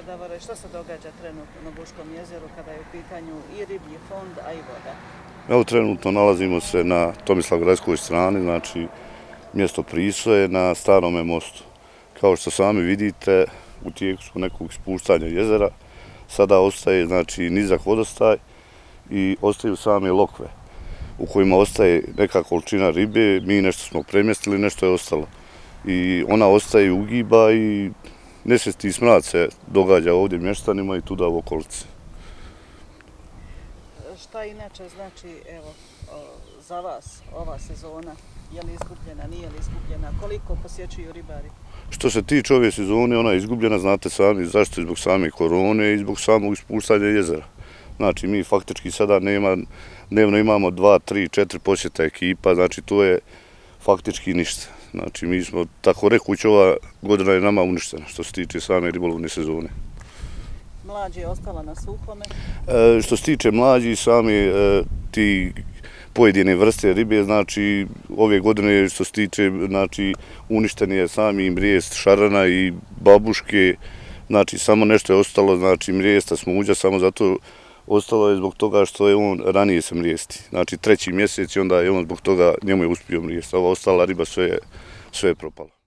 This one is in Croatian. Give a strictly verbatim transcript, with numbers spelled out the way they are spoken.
evo Davore, što se događa trenutno na Buškom jezeru kada je u pitanju i riblji fond, a i voda? Evo trenutno nalazimo se na Tomislavgradskoj strani, znači mjesto Prisoje na Starome mostu. Kao što sami vidite, u tijeku su nekog ispuštanja jezera, sada ostaje znači nizak vodostaj i ostaju same lokve u kojima ostaje neka količina ribe, mi nešto smo premjestili, nešto je ostalo. I ona ostaje i ugiba i nesvjesni smrad se događa ovdje mještanima i tuda u okolici. Šta inače znači, evo, za vas ova sezona? Je li izgubljena, nije li izgubljena? Koliko posjećuju ribari? Što se tiče ove sezone, ona je izgubljena, znate sami zašto, zbog same korone i zbog samog ispuštanja jezera. Znači, mi faktički sada nema, dnevno imamo dva, tri, četiri posjeta ekipa, znači to je faktički ništa. Znači, mi smo, tako rekući, ova godina je nama uništena što se tiče same ribolovne sezone. Mlađi je ostala na suhome? E, što se tiče mlađi, sami e, ti pojedine vrste ribe, znači ove godine što se tiče, znači uništen je sami mrijest šarana i babuške, znači samo nešto je ostalo, znači mrijesta smuđa, samo zato ostalo je zbog toga što je on ranije se mrijesti, znači treći mjesec i onda je on zbog toga njemu je uspio mrijest, ova ostala riba sve je, sve je propala.